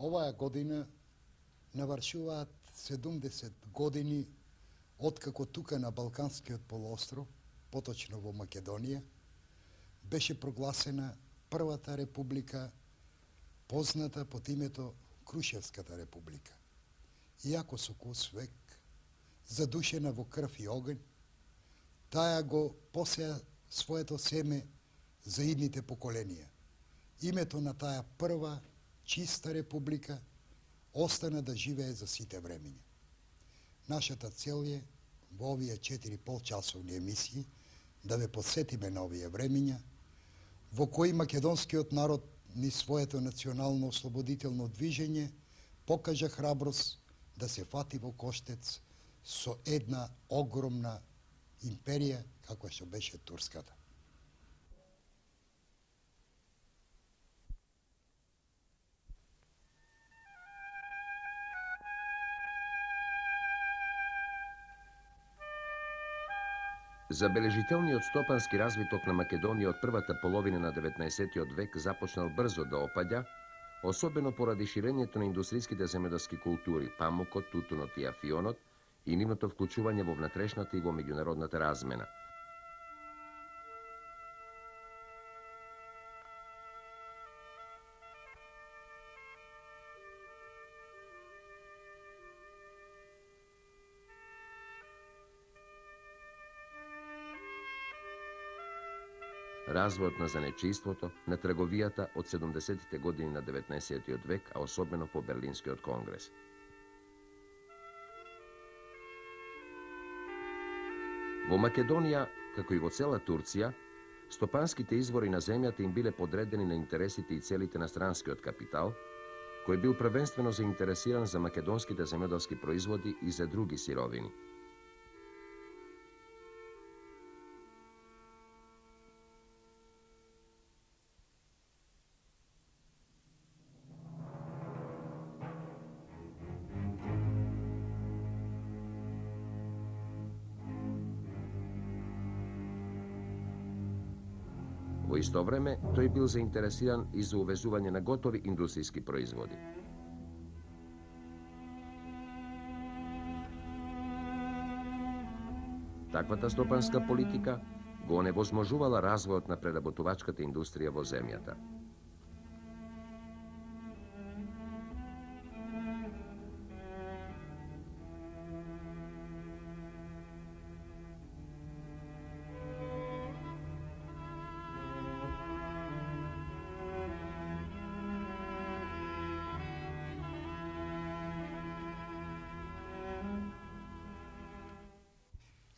Оваа година навршуваат 70 години откако тука на Балканскиот полуостров, поточно во Македонија, беше прогласена првата република, позната под името Крушевската република. Иако со кус век, задушена во крв и оген, таа го посеа своето семе за идните поколенија. Името на таа прва чиста република остана да живее за сите времења. Нашата цел е во овие 4,5 часовни емисии да ве подсетиме на овие времења во кои македонскиот народ ни своето национално ослободително движење покажа храброст да се фати во коштец со една огромна империја каква што беше турската. Забележителниот стопански развиток на Македонија од првата половина на 19. век започнал брзо да опаѓа, особено поради ширењето на индустријските земјоделски култури, памукот, тутунот и афионот и нивното вклучување во внатрешната и во меѓународната размена. Развојот на занечиството, на трговијата од 70-тите години на 19. век, а особено по Берлинскиот конгрес. Во Македонија, како и во цела Турција, стопанските извори на земјата им биле подредени на интересите и целите на странскиот капитал, кој бил првенствено заинтересиран за македонските земјоделски производи и за други сировини. Во исто време, тој бил заинтересиран и за увезување на готови индустријски производи. Таквата стопанска политика го оневозможувала развојот на преработувачката индустрија во земјата.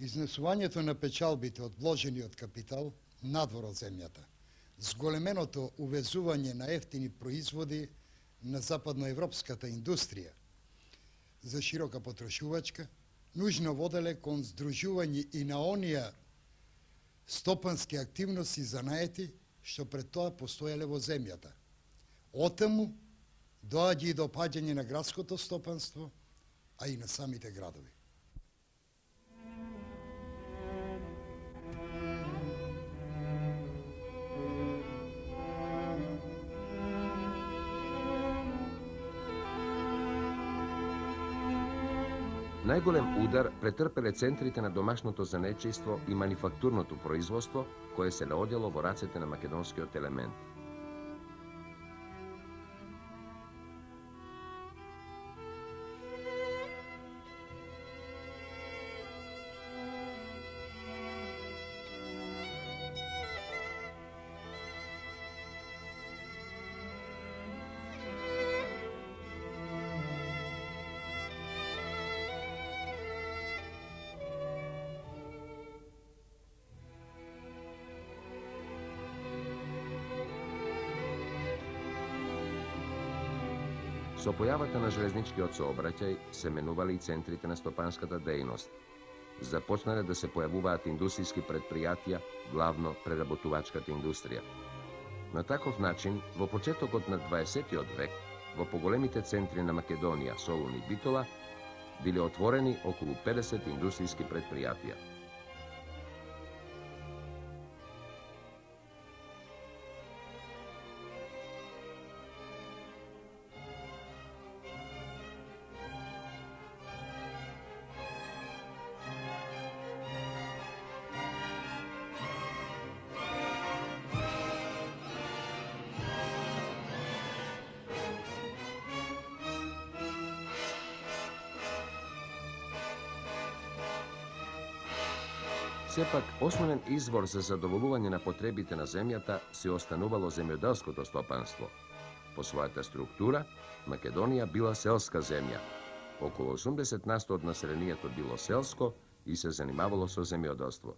Изнесувањето на печалбите од вложениот капитал надвор од земјата, зголеменото увезување на ефтини производи на западноевропската индустрија за широка потрошувачка, нужно воделе кон здружување и на оние стопански активности за наети што пред тоа постоеле во земјата. Отаму доаѓа и до паѓање на градското стопанство, а и на самите градови. Најголем удар претрпеле центрите на домашното занечејство и манифактурното производство, кое се наоѓало во рацете на македонскиот елемент. Со појавата на железничкиот сообраќај се менували и центрите на стопанската дејност. Започнале да се појавуваат индустријски предпријатија, главно преработувачката индустрија. На таков начин, во почетокот на 20. век, во поголемите центри на Македонија, Солун и Битола, биле отворени околу 50 индустријски предпријатија. Сепак, основен извор за задоволување на потребите на земјата се останувало земјоделското стопанство. По својата структура, Македонија била селска земја. Околу 80% од населението било селско и се занимавало со земјоделство.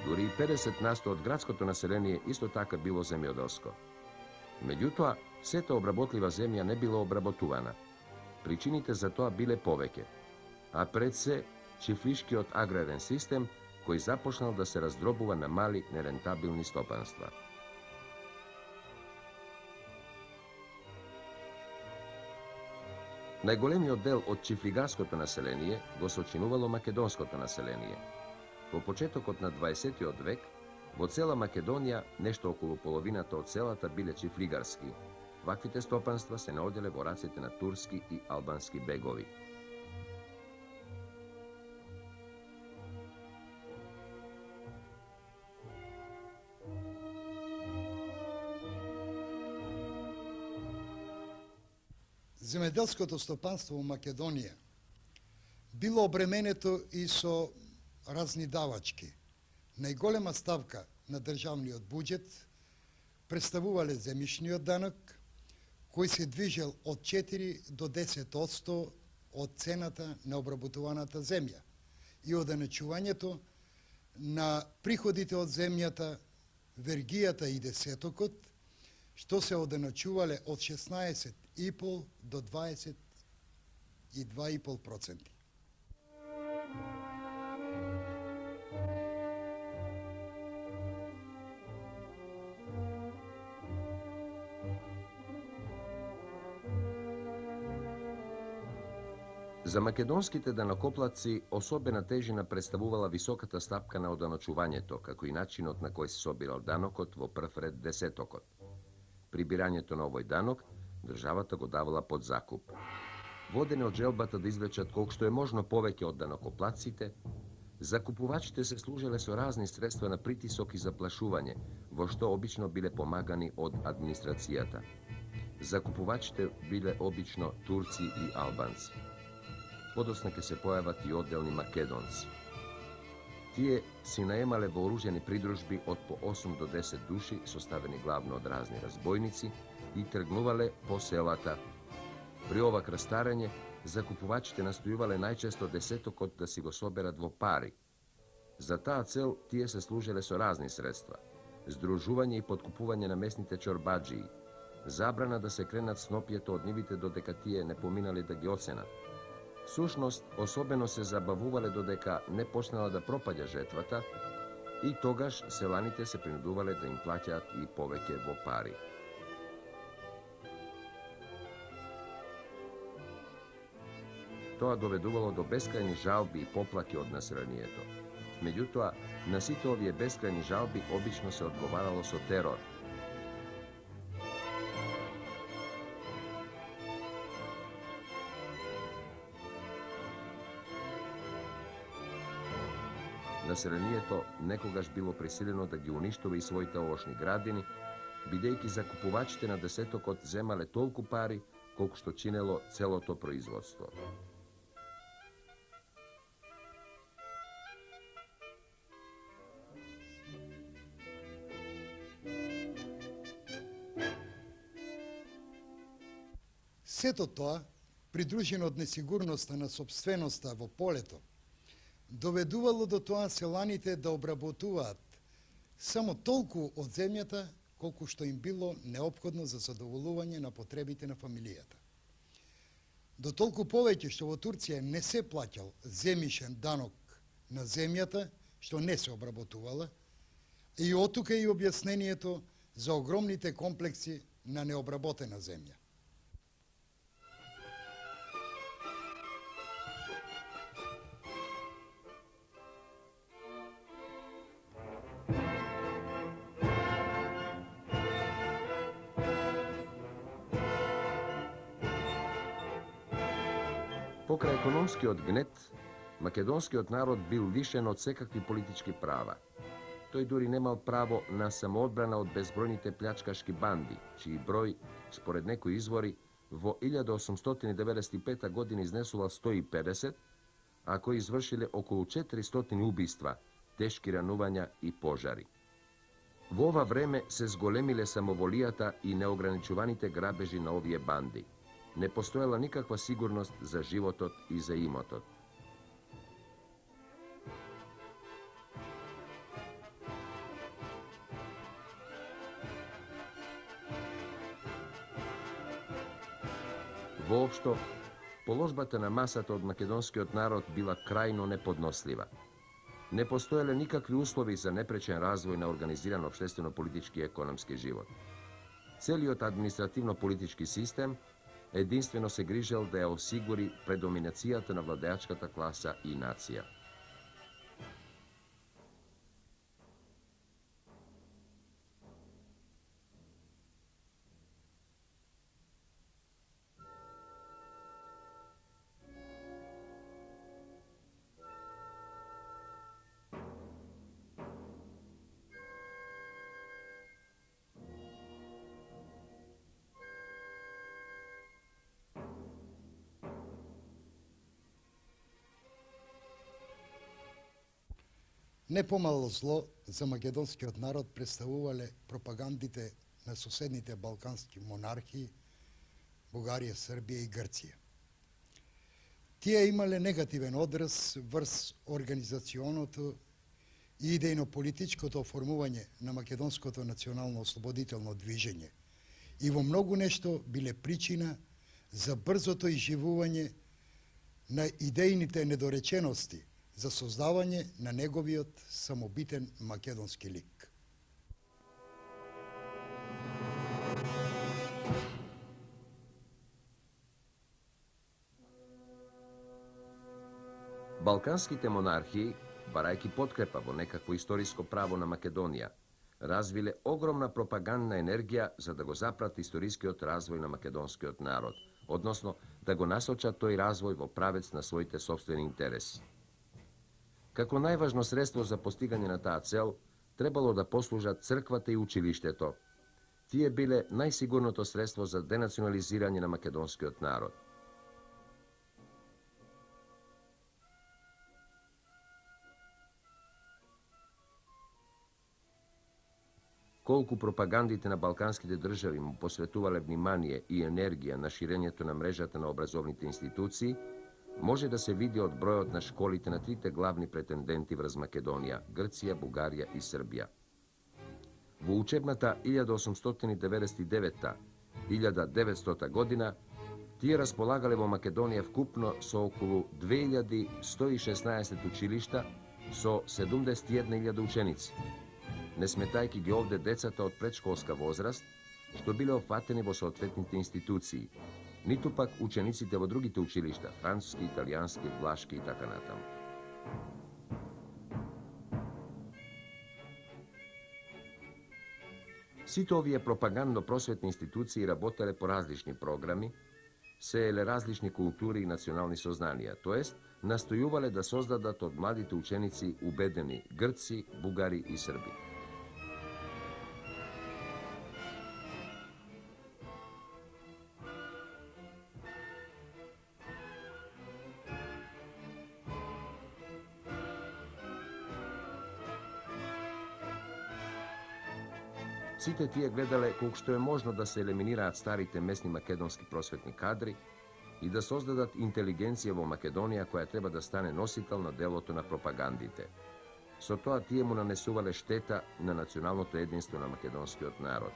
Дури и 50% од градското население исто така било земјоделско. Меѓутоа, сета обработлива земја не била обработувана. Причините за тоа биле повеќе, а пред се чифлишкиот аграрен систем кој започнал да се раздробува на мали нерентабилни стопанства. Најголемиот дел од чифлигарското население го сочинувало македонското население. Во почетокот на 20 век, во цела Македонија, нешто околу половината од селата биле чифлигарски. Ваквите стопанства се наоѓале во рацете на турски и албански бегови. Земјоделското стопанство во Македонија било обременето и со разни давачки. Најголема ставка на државниот буџет представувале земјишниот данок, кој се движел од 4 до 10% од цената на обработуваната земја и оденачувањето на приходите од земјата, вергијата и десетокот, што се оденачувале од 16,5 до 22,5%. За македонските данокоплатци особена тежина представувала високата стапка на оданочувањето, како и начинот на кој се собирал данокот во прв ред десетокот. Прибирањето на овој данок, државата го давала под закуп. Водени од желбата да извлечат колку што е можно повеќе од данокоплатците, закупувачите се служеле со разни средства на притисок и заплашување, во што обично биле помагани од администрацијата. Закупувачите биле обично турци и албанци. Подоцна ќе се појават и одделни македонци. Тие си наемале вооружени придружби од по 8 до 10 души, составени главно од разни разбойници, и тргнувале по селата. При ова крстарење, закупувачите настојувале најчесто десетокот да си го соберат во пари. За таа цел тие се служеле со разни средства: здружување и подкупување на местните чорбаџии, забрана да се кренат снопјето од нивите додека тие не поминале да ги оценат. Сушност, особено се забавувале додека не почнала да пропаѓа жетвата и тогаш селаните се принудувале да им плаќаат и повеќе во пари. Тоа доведувало до бескрајни жалби и поплаки од населението. Меѓутоа, на сите овие бескрајни жалби обично се одговарало со терор. Населението некогаш било присилено да ги уништува и своите овошни градини, бидејќи закупувачите на десетокот земале толку пари колку што чинело целото производство. Сето тоа, придружено од несигурноста на собственоста во полето, доведувало до тоа селаните да обработуваат само толку од земјата колку што им било неопходно за задоволување на потребите на фамилијата. До толку повеќе што во Турција не се плаќал земјишен данок на земјата што не се обработувала, и оттука и објаснението за огромните комплекси на необработена земја. Покрај економскиот гнет, македонскиот народ бил лишен од секакви политички права. Тој дури немал право на самоодбрана од безбројните плячкашки банди, чиј број, според некои извори, во 1895 година изнесува 150, а кои извршиле околу 400 убиства, тешки ранувања и пожари. Во ова време се зголемиле самоволијата и неограничуваните грабежи на овие банди. Не постоела никаква сигурност за животот и за имотот. Воопшто, положбата на масата од македонскиот народ била крајно неподнослива. Не постоеле никакви услови за непречен развој на организиран општествено-политички и економски живот. Целиот административно-политички систем единствено се грижел да ја осигури предоминацијата на владеачката класа и нација. Не помало зло за македонскиот народ представувале пропагандите на соседните балкански монархии, Бугарија, Србија и Грција. Тие имале негативен одраз врз организационото и идејно-политичкото оформување на македонското национално ослободително движење и во многу нешто биле причина за брзото изживување на идејните недоречености за создавање на неговиот самобитен македонски лик. Балканските монархии, барајќи подкрепа во некакво историско право на Македонија, развиле огромна пропагандна енергија за да го запрат историскиот развој на македонскиот народ, односно да го насочат тој развој во правец на своите сопствени интереси. Како најважно средство за постигање на таа цел, требало да послужат црквата и училиштето. Тие биле најсигурното средство за денационализирање на македонскиот народ. Колку пропагандите на балканските држави му посветувале внимание и енергија на ширењето на мрежата на образовните институции, може да се види од бројот на школите на трите главни претенденти врз Македонија – Грција, Бугарија и Србија. Во учебната 1899-1900 година тие располагале во Македонија вкупно со околу 2116 училишта со 71.000 ученици, не сметајќи ги овде децата од предшколска возраст, што биле опфатени во соодветните институции, ниту пак учениците во другите училишта, француски, италијански, влашки и така натаму. Сите овие пропагандно-просветни институции работеле по различни програми, сееле различни култури и национални сознанија, тоест настојувале да создадат од младите ученици убедени грци, бугари и срби. Сите тие гледале колку што е можно да се елиминираат старите местни македонски просветни кадри и да создадат интелигенција во Македонија која треба да стане носител на делото на пропагандите. Со тоа тие му нанесувале штета на националното единство на македонскиот народ.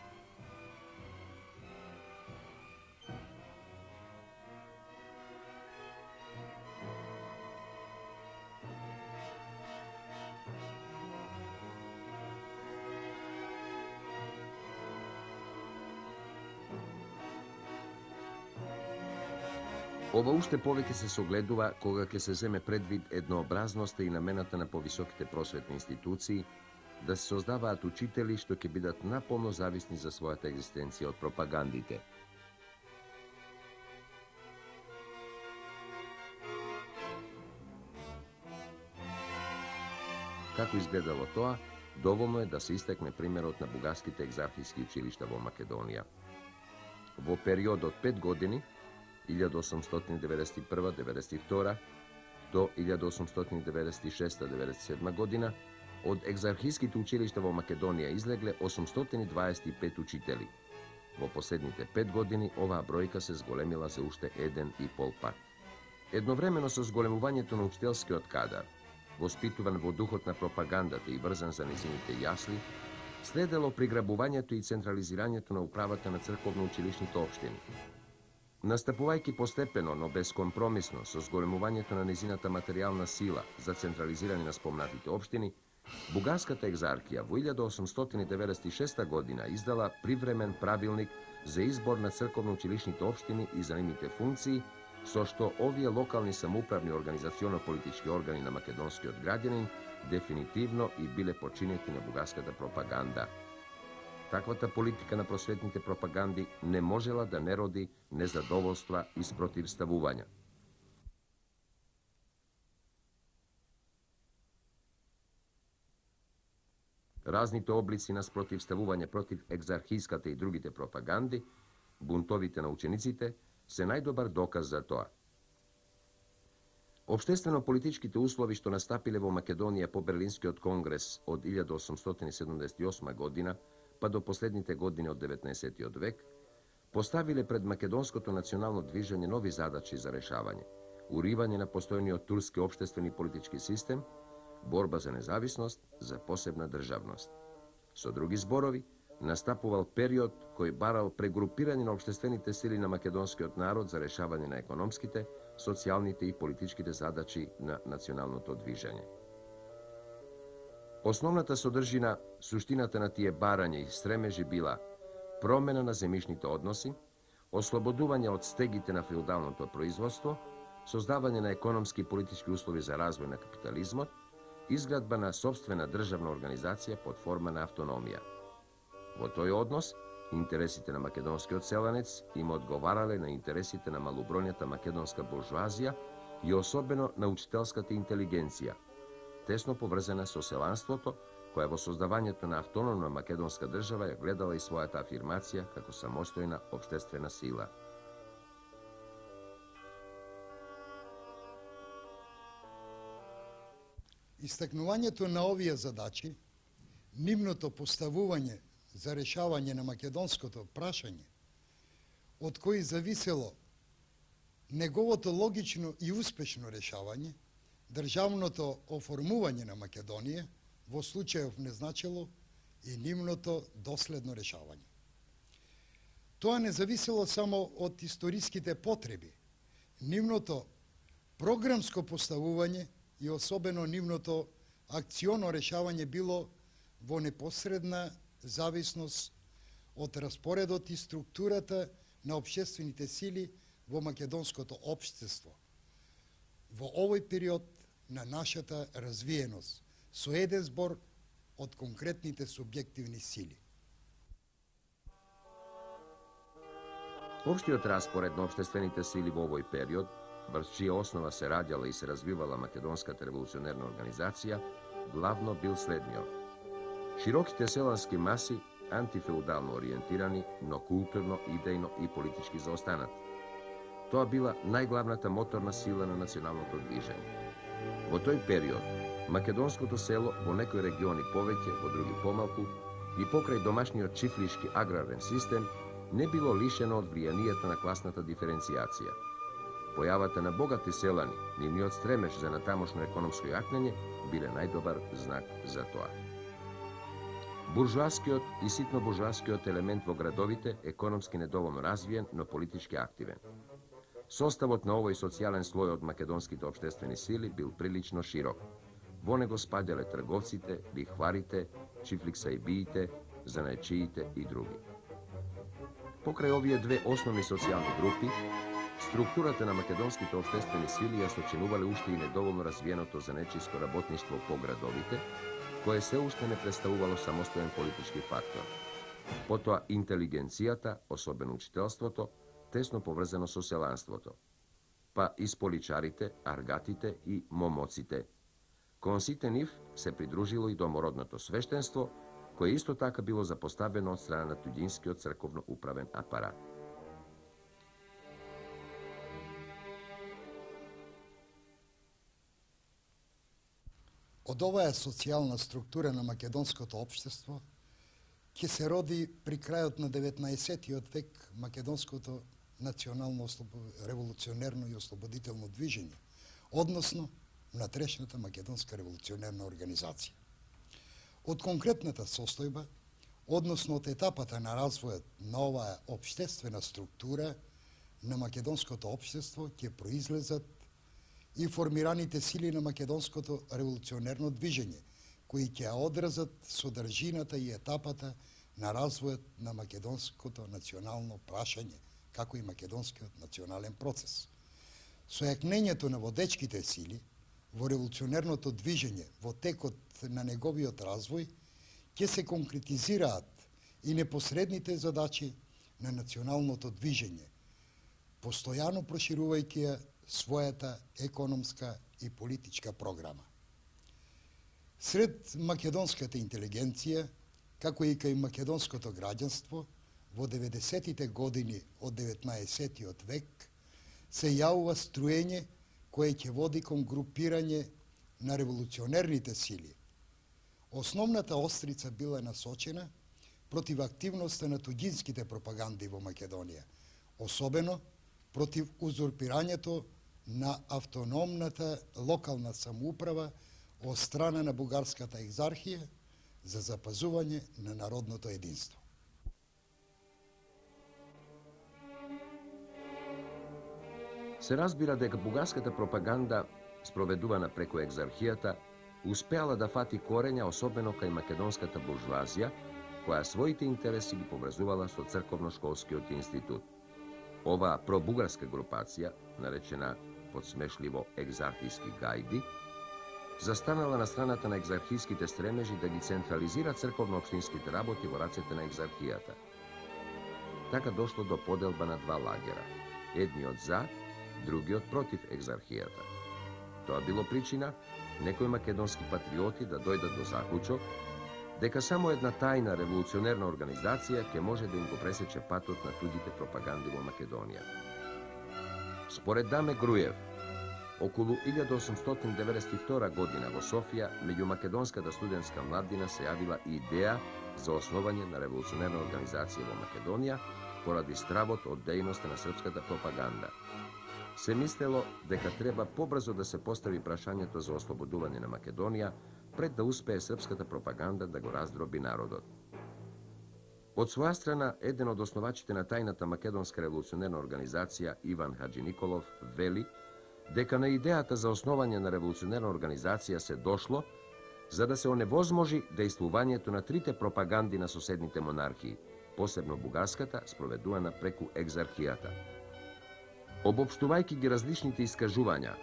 Ова уште повеќе се согледува кога ќе се земе предвид еднообразноста и намената на повисоките просветни институции да се создаваат учители што ќе бидат наполно зависни за својата екзистенција од пропагандите. Како изгледало тоа, доволно е да се истекне примерот на бугарските екзархиски училишта во Македонија. во период од 5 години, 1891-92 до 1896-97 година, од екзархиските училишта во Македонија излегле 825 учители. Во последните 5 години оваа бројка се зголемила за уште 1,5 пат. Едновремено со зголемувањето на учителскиот кадар, воспитуван во духот на пропагандата и врзан за незините јасли, следело приграбувањето и централизирањето на управата на црковно-училишните општини. Настапувајќи постепено, но безкомпромисно со зголемувањето на незината материјална сила за централизирање на спомнатите општини, Бугарската екзархија во 1896 година издала привремен правилник за избор на црковно-училишните општини и за нивните функции, со што овие локални самоуправни организационо-политички органи на македонскиот граѓанин дефинитивно и биле починети на бугарската пропаганда. Таквата политика на просветните пропаганди не можела да не роди незадоволства и спротивставувања. Разните облици на спротивставување против екзархиската и другите пропаганди, бунтовите на учениците, се најдобар доказ за тоа. Обштествено-политичките услови што настапиле во Македонија по Берлинскиот конгрес од 1878 година, па до последните години од 19. век, поставиле пред македонското национално движење нови задачи за решавање: уривање на постојниот турски обштествен и политички систем, борба за независност, за посебна државност. Со други зборови, настапувал период кој барал прегрупирање на обштествените сили на македонскиот народ за решавање на економските, социјалните и политичките задачи на националното движење. Основната содржина, суштината на тие барања и стремежи била промена на земјишните односи, ослободување од стегите на феудалното производство, создавање на економски и политички услови за развој на капитализмот, изградба на собствена државна организација под форма на автономија. Во тој однос, интересите на македонскиот селанец им одговарале на интересите на малобројната македонска буржуазија и особено на учителската интелигенција, тесно поврзана со селанството, која во создавањето на автономна македонска држава ја гледала и својата афирмација како самостојна општествена сила. Истакнувањето на овие задачи, нивното поставување за решавање на македонското прашање, од кои зависело неговото логично и успешно решавање, државното оформување на Македонија во случајов не значило и нивното доследно решавање. Тоа не зависело само од историските потреби, нивното програмско поставување и особено нивното акционо решавање било во непосредна зависност од распоредот и структурата на општествените сили во македонското општество во овој период на нашата развиеност, со еден збор од конкретните субјективни сили. Општиот распоред на општествените сили во овој период, врз чија основа се раѓала и се развивала македонската револуционерна организација, главно бил следниот: широките селански маси, антифеудално ориентирани, но културно, идејно и политички заостанати. Тоа била најглавната моторна сила на националното движење. Во тој период, македонското село во некои региони повеќе, во други помалку, и покрај домашниот чифлишки аграрен систем, не било лишено од влијанието на класната диференцијација. Појавата на богати селани, нивниот стремеж за натамошно економско јакнење, биле најдобар знак за тоа. Буржуаскиот и ситно буржуаскиот елемент во градовите економски недоволно развиен, но политички активен. Составот на овој социјален слој од македонските општествени сили бил прилично широк. Во него спаѓале трговците, лихварите, чифликсајбиите, занајчиите и други. Покрај овие две основни социјални групи, структурата на македонските општествени сили ја сочинувале уште и недоволно развиеното занечиско работништво по градовите, кое се уште не представувало самостоен политички фактор. Потоа интелигенцијата, особено учителството, тесно поврзано со селанството. Па и споличарите, аргатите и момоците. Кон сите нив се придружило и домородното свештенство, кое исто така било запоставено од страна на туѓинскиот црковно-управен апарат. Од оваа социјална структура на македонското општество ќе се роди при крајот на 19-тиот век македонското национално револуционерно и ослободително движење, односно внатрешната македонска револуционерна организација. Од конкретната состојба, односно од етапата на развојот на оваа општествена структура на македонското општество ќе произлезат и формираните сили на македонското револуционерно движење, кои ќе одразат содржината и етапата на развојот на македонското национално прашање, како и македонскиот национален процес. Со јакнењето на водечките сили во револуционерното движење во текот на неговиот развој ќе се конкретизираат и непосредните задачи на националното движење, постојано проширувајќи ја својата економска и политичка програма. Сред македонската интелигенција, како и кај македонското граѓанство, во 90-тите години од 19-тиот век се јавува струење кое ќе води кон групирање на револуционерните сили. Основната острица била насочена против активноста на туѓинските пропаганди во Македонија, особено против узурпирањето на автономната локална самоуправа од страна на бугарската екзархија за запазување на народното единство. Се разбира дека бугарската пропаганда, спроведувана преку екзархијата, успеала да фати корења, особено кај македонската буржуазија, која своите интереси ги поврзувала со црковно-школскиот институт. Оваа пробугарска групација, наречена подсмешливо екзархиски гајди, застанала на страната на екзархиските стремежи да ги централизира црковно-општинските работи во рацете на екзархијата. Така дошло до поделба на два лагера, едниот за, другиот против екзархијата. Тоа било причина некои македонски патриоти да дојдат до заклучок дека само една тајна револуционерна организација ќе може да им го пресече патот на туѓите пропаганди во Македонија. Според Даме Груев, околу 1892 година во Софија, меѓу македонската студентска младина се јавила идеја за основање на револуционерна организација во Македонија поради стравот од дејноста на српската пропаганда. Се мислело дека треба побрзо да се постави прашањето за ослободување на Македонија пред да успее српската пропаганда да го раздроби народот. Од своја страна, еден од основачите на тајната македонска револуционерна организација, Иван Хаджи Николов, вели дека на идејата за основање на револуционерна организација се дошло за да се оневозможи дејствувањето на трите пропаганди на соседните монархии, посебно бугарската, спроведувана преку екзархијата. Обопштувајќи ги различните искажувања,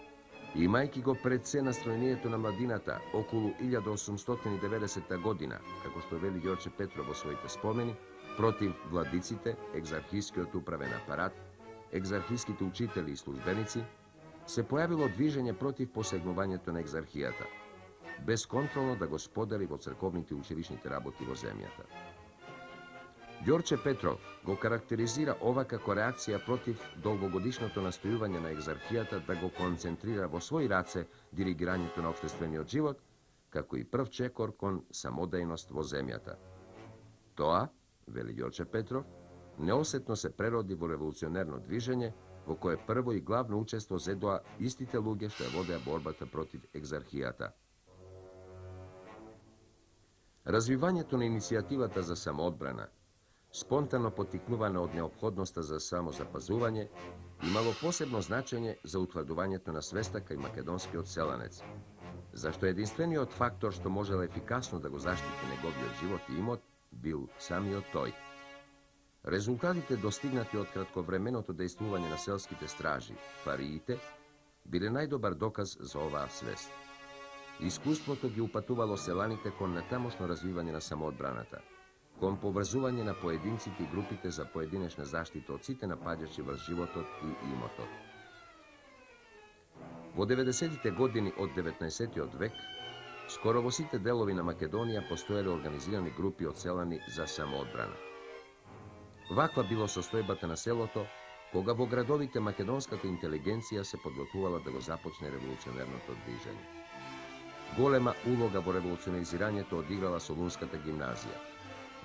имајќи го пред се настроението на младината околу 1890 година, како што вели Ѓорче Петров во своите спомени, против владиците, екзархискиот управен апарат, екзархиските учители и службеници, се појавило движење против посегнувањето на екзархијата, безконтролно да го сподели во црковните училишните работи во земјата. Ѓорче Петров го карактеризира ова како реакција против долгогодишното настојување на екзархијата да го концентрира во своји раце диригирањето на општествениот живот, како и прв чекор кон самодејност во земјата. Тоа, вели Ѓорче Петров, неосетно се прероди во револуционерно движење, во кое прво и главно учество зедоа истите луѓе што ја водеа борбата против екзархијата. Развивањето на иницијативата за самоодбрана, спонтано поттикнувана од неопходноста за самозапазување, имало посебно значење за утврдувањето на свеста кај македонскиот селанец, зашто единствениот фактор што можел ефикасно да го заштити неговиот живот и имот бил самиот тој. Резултатите достигнати од кратковременото дејствување на селските стражи, фариите, биле најдобар доказ за оваа свест. Искуството ги упатувало селаните кон натамошно развивање на самоодбраната, кон поврзување на поединците и групите за поединечна заштита од сите напаѓачи врз животот и имотот. Во 90-тите години од 19-тиот век, скоро во сите делови на Македонија постоеле организирани групи од селани за самоодбрана. Ваква било состојбата на селото, кога во градовите македонската интелигенција се подготвувала да го започне револуционерното движење. Голема улога во револуционизирањето одиграла Солунската гимназија.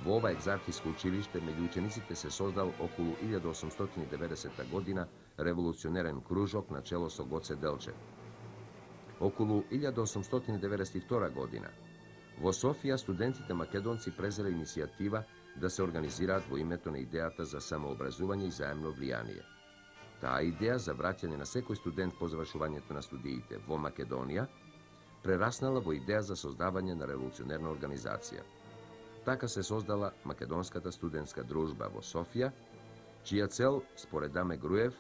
Во ова екзархиско училиште меѓу учениците се создал околу 1890 година револуционерен кружок на чело со Гоце Делчев. Околу 1892 година во Софија студентите македонци презеле иницијатива да се организираат во името на идејата за самообразување и заемно влијание. Таа идеја за враќање на секој студент по завршувањето на студиите во Македонија прераснала во идеја за создавање на револуционерна организација. Така се создала Македонската студентска дружба во Софија, чија цел, според Даме Груев,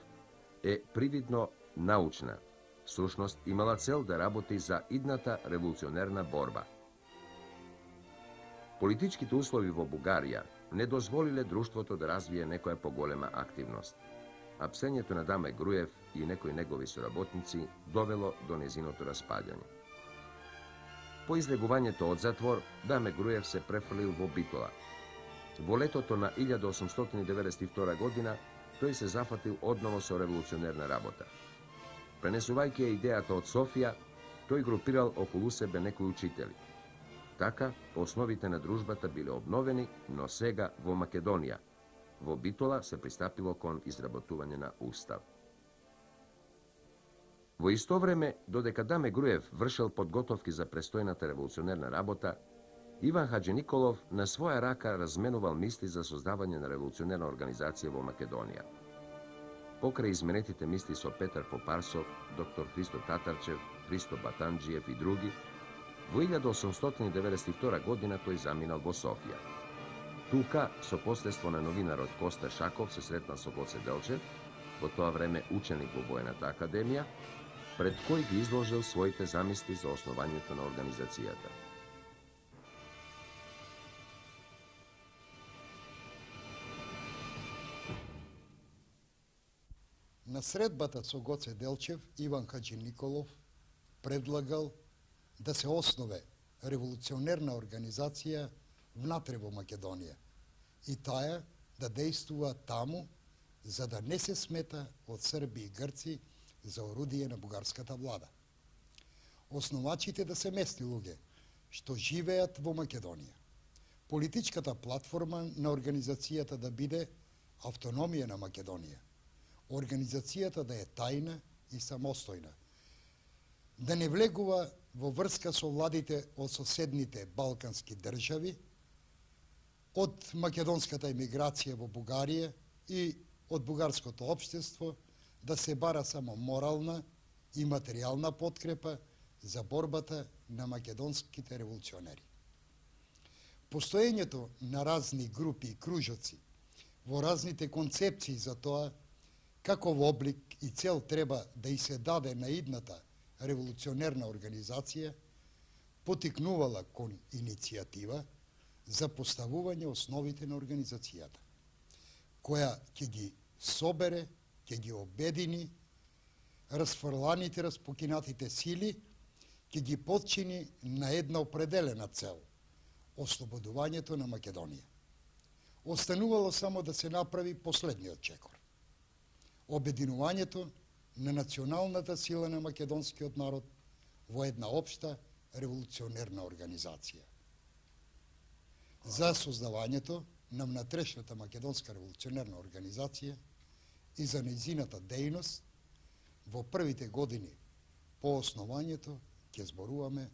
е привидно научна. Всушност, имала цел да работи за идната револуционерна борба. Политичките услови во Бугарија не дозволиле друштвото да развие некоја поголема активност, а псењето на Даме Груев и некои негови соработници довело до незиното распаѓање. По излегувањето од затвор, Даме Груев се префрлил во Битола. Во летото на 1892 година тој се зафатил одново со револуционерна работа. Пренесувајќи ја идејата од Софија, тој групирал околу себе некои учители. Така, основите на дружбата биле обновени, но сега во Македонија. Во Битола се пристапило кон изработување на устав. Во исто време, додека Даме Груев вршел подготовки за престојната револуционерна работа, Иван Хаџи Николов на своја рака разменувал мисли за создавање на револуционерна организација во Македонија. Покрај изменетите мисли со Петар Попарсов, доктор Христо Татарчев, Христо Батанџиев и други, во 1892 година тој заминал во Софија. Тука, со последство на новинарот Коста Шаков, се сретнал со Гоце Делчев, во тоа време ученик во Воената академија, пред кој ги изложил своите замисли за основањето на организацијата. На средбата со Гоце Делчев, Иван Хаџи Николов предлагал да се основе револуционерна организација внатре во Македонија и таа да дејствува таму, за да не се смета од Срби и Грци за орудие на бугарската влада. Основачите да се местни луѓе што живеат во Македонија. Политичката платформа на организацијата да биде автономија на Македонија. Организацијата да е тајна и самостојна. Да не влегува во врска со владите од соседните балкански држави, од македонската емиграција во Бугарија и од бугарското општество, да се бара само морална и материјална подкрепа за борбата на македонските револуционери. Постоењето на разни групи и кружоци во разните концепции за тоа каков облик и цел треба да и се даде на идната револуционерна организација, потикнувала кон иницијатива за поставување основите на организацијата, која ќе ги собере, ќе ги обедини расфрланите, распокинатите сили, ќе ги подчини на една определена цел – ослободувањето на Македонија. Останувало само да се направи последниот чекор – обединувањето на националната сила на македонскиот народ во една општа револуционерна организација. За создавањето на внатрешната македонска револуционерна организација и за нејзината дејност во првите години по основањето ќе зборуваме